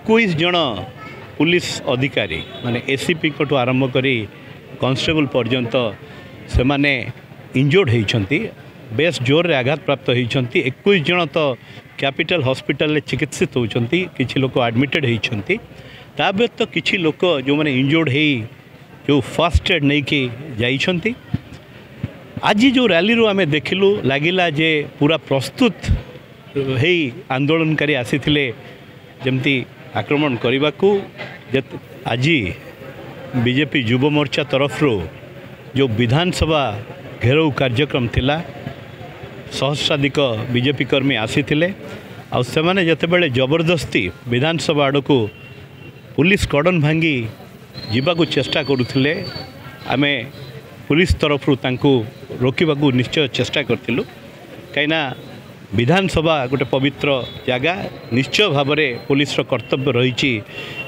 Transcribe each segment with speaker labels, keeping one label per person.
Speaker 1: 21 ଜଣ ପୁଲିସ ଅଧିକାରୀ ମାନେ ଏସିପିଙ୍କଠୁ ଆରମ୍ଭ କରି କନଷ୍ଟେବଲ ପର୍ଯ୍ୟନ୍ତ ସେମାନେ ଇଞ୍ଜୋର୍ଡ଼ ହେଇଛନ୍ତି, ବେଶ ଜୋରରେ ଆଘାତପ୍ରାପ୍ତ ହେଇଛନ୍ତି। 21 ଜଣ ତ କ୍ୟାପିଟାଲ ହସ୍ପିଟାଲରେ ଚିକିତ୍ସିତ ହେଉଛନ୍ତି, କିଛି ଲୋକ ଆଡ଼ମିଟେଡ଼ ହେଇଛନ୍ତି। ତା ବ୍ୟତୀତ କିଛି ଲୋକ ଯେଉଁମାନେ ଇଞ୍ଜୋର୍ଡ଼ ହେଇ ଯେଉଁ ଫାର୍ଷ୍ଟ ଏଡ଼୍ ନେଇକି ଯାଇଛନ୍ତି। ଆଜି ଯେଉଁ ରାଲିରୁ ଆମେ ଦେଖିଲୁ, ଲାଗିଲା ଯେ ପୁରା ପ୍ରସ୍ତୁତ ହେଇ ଆନ୍ଦୋଳନକାରୀ ଆସିଥିଲେ ଯେମିତି ଆକ୍ରମଣ କରିବାକୁ। ଆଜି ବିଜେପି ଯୁବ ମୋର୍ଚ୍ଚା ତରଫରୁ ଯେଉଁ ବିଧାନସଭା ଘେରାଉ କାର୍ଯ୍ୟକ୍ରମ ଥିଲା, ସହସ୍ରାଧିକ ବିଜେପି କର୍ମୀ ଆସିଥିଲେ। ଆଉ ସେମାନେ ଯେତେବେଳେ ଜବରଦସ୍ତି ବିଧାନସଭା ଆଡ଼କୁ ପୁଲିସ କର୍ଡ଼ନ ଭାଙ୍ଗି ଯିବାକୁ ଚେଷ୍ଟା କରୁଥିଲେ, ଆମେ ପୁଲିସ ତରଫରୁ ତାଙ୍କୁ ରୋକିବାକୁ ନିଶ୍ଚୟ ଚେଷ୍ଟା କରିଥିଲୁ। କାହିଁକିନା ବିଧାନସଭା ଗୋଟେ ପବିତ୍ର ଜାଗା, ନିଶ୍ଚୟ ଭାବରେ ପୁଲିସର କର୍ତ୍ତବ୍ୟ ରହିଛି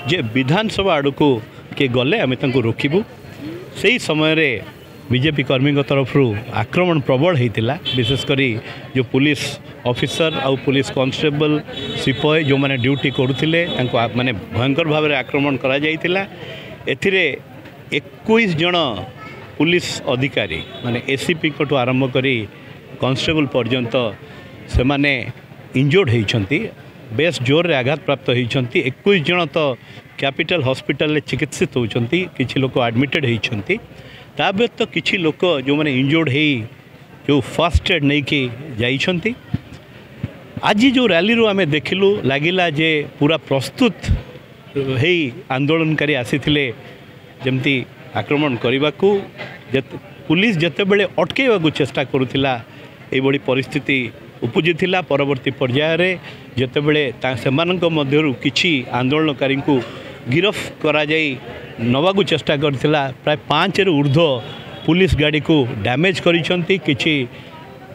Speaker 1: ଯେ ବିଧାନସଭା ଆଡ଼କୁ କିଏ ଗଲେ ଆମେ ତାଙ୍କୁ ରୋକିବୁ। ସେହି ସମୟରେ ବିଜେପି କର୍ମୀଙ୍କ ତରଫରୁ ଆକ୍ରମଣ ପ୍ରବଳ ହେଇଥିଲା। ବିଶେଷ କରି ଯେଉଁ ପୁଲିସ ଅଫିସର ଆଉ ପୁଲିସ କନଷ୍ଟେବଲ, ସିପାହୀ ଯେଉଁମାନେ ଡ୍ୟୁଟି କରୁଥିଲେ, ତାଙ୍କୁ ମାନେ ଭୟଙ୍କର ଭାବରେ ଆକ୍ରମଣ କରାଯାଇଥିଲା। ଏଥିରେ 21 ଜଣ ପୁଲିସ ଅଧିକାରୀ ମାନେ ଏସିପିଙ୍କଠୁ ଆରମ୍ଭ କରି କନଷ୍ଟେବଲ ପର୍ଯ୍ୟନ୍ତ ସେମାନେ ଇଞ୍ଜୋର୍ଡ଼ ହେଇଛନ୍ତି, ବେଶ ଜୋରରେ ଆଘାତପ୍ରାପ୍ତ ହେଇଛନ୍ତି। 21 ଜଣ ତ କ୍ୟାପିଟାଲ ହସ୍ପିଟାଲରେ ଚିକିତ୍ସିତ ହେଉଛନ୍ତି, କିଛି ଲୋକ ଆଡ଼ମିଟେଡ଼ ହେଇଛନ୍ତି। ତା ବ୍ୟତୀତ କିଛି ଲୋକ ଯେଉଁମାନେ ଇଞ୍ଜୋର୍ଡ଼ ହେଇ ଯେଉଁ ଫାର୍ଷ୍ଟ ଏଡ଼୍ ନେଇକି ଯାଇଛନ୍ତି। ଆଜି ଯେଉଁ ରାଲିରୁ ଆମେ ଦେଖିଲୁ, ଲାଗିଲା ଯେ ପୁରା ପ୍ରସ୍ତୁତ ହେଇ ଆନ୍ଦୋଳନକାରୀ ଆସିଥିଲେ ଯେମିତି ଆକ୍ରମଣ କରିବାକୁ। ପୁଲିସ ଯେତେବେଳେ ଅଟକେଇବାକୁ ଚେଷ୍ଟା କରୁଥିଲା, ଏଇଭଳି ପରିସ୍ଥିତି ଉପୁଜିଥିଲା। ପରବର୍ତ୍ତୀ ପର୍ଯ୍ୟାୟରେ ଯେତେବେଳେ ସେମାନଙ୍କ ମଧ୍ୟରୁ କିଛି ଆନ୍ଦୋଳନକାରୀଙ୍କୁ ଗିରଫ କରାଯାଇ ନେବାକୁ ଚେଷ୍ଟା କରିଥିଲା, ପ୍ରାୟ 5ରୁ ଉର୍ଦ୍ଧ୍ୱ ପୁଲିସ ଗାଡ଼ିକୁ ଡ୍ୟାମେଜ୍ କରିଛନ୍ତି, କିଛି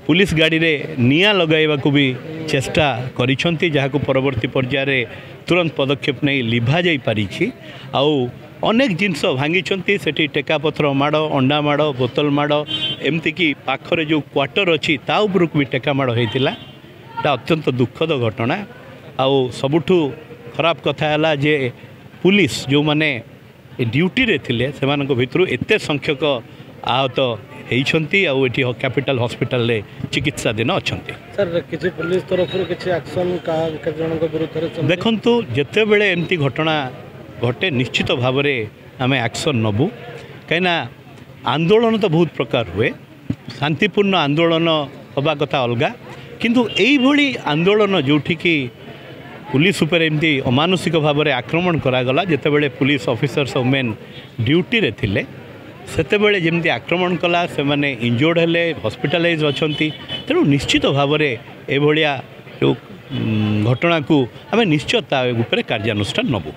Speaker 1: ପୁଲିସ ଗାଡ଼ିରେ ନିଆଁ ଲଗାଇବାକୁ ବି ଚେଷ୍ଟା କରିଛନ୍ତି, ଯାହାକୁ ପରବର୍ତ୍ତୀ ପର୍ଯ୍ୟାୟରେ ତୁରନ୍ତ ପଦକ୍ଷେପ ନେଇ ଲିଭା ଯାଇପାରିଛି। ଆଉ ଅନେକ ଜିନିଷ ଭାଙ୍ଗିଛନ୍ତି ସେଠି, ଟେକାପଥର ମାଡ଼, ଅଣ୍ଡା ମାଡ଼, ବୋତଲ ମାଡ଼, ଏମିତିକି ପାଖରେ ଯେଉଁ କ୍ୱାର୍ଟର ଅଛି ତା ଉପରକୁ ବି ଟେକା ମାଡ଼ ହେଇଥିଲା। ଏଇଟା ଅତ୍ୟନ୍ତ ଦୁଃଖଦ ଘଟଣା। ଆଉ ସବୁଠୁ ଖରାପ କଥା ହେଲା ଯେ ପୁଲିସ ଯେଉଁମାନେ ଡ୍ୟୁଟିରେ ଥିଲେ, ସେମାନଙ୍କ ଭିତରୁ ଏତେ ସଂଖ୍ୟକ ଆହତ ହେଇଛନ୍ତି ଆଉ ଏଠି କ୍ୟାପିଟାଲ ହସ୍ପିଟାଲରେ ଚିକିତ୍ସାଧୀନ ଅଛନ୍ତି।
Speaker 2: ସାର୍, କିଛି ପୁଲିସ ତରଫରୁ କିଛି ଆକ୍ସନ୍ କାହା କେତେ ଜଣଙ୍କ ବିରୁଦ୍ଧରେ?
Speaker 1: ଦେଖନ୍ତୁ, ଯେତେବେଳେ ଏମିତି ଘଟଣା ଘଟେ ନିଶ୍ଚିତ ଭାବରେ ଆମେ ଆକ୍ସନ୍ ନେବୁ। କାହିଁକିନା ଆନ୍ଦୋଳନ ତ ବହୁତ ପ୍ରକାର ହୁଏ, ଶାନ୍ତିପୂର୍ଣ୍ଣ ଆନ୍ଦୋଳନ ହେବା କଥା ଅଲଗା, କିନ୍ତୁ ଏଇଭଳି ଆନ୍ଦୋଳନ ଯେଉଁଠିକି ପୁଲିସ ଉପରେ ଏମିତି ଅମାନୁଷିକ ଭାବରେ ଆକ୍ରମଣ କରାଗଲା, ଯେତେବେଳେ ପୁଲିସ ଅଫିସର୍ସ ମେନ୍ ଡ୍ୟୁଟିରେ ଥିଲେ ସେତେବେଳେ ଯେମିତି ଆକ୍ରମଣ କଲା, ସେମାନେ ଇଞ୍ଜୋର୍ଡ଼ ହେଲେ, ହସ୍ପିଟାଲାଇଜ୍ ଅଛନ୍ତି। ତେଣୁ ନିଶ୍ଚିତ ଭାବରେ ଏଭଳିଆ ଯେଉଁ ଘଟଣାକୁ ଆମେ ନିଶ୍ଚୟ ତା ଉପରେ କାର୍ଯ୍ୟାନୁଷ୍ଠାନ ନେବୁ।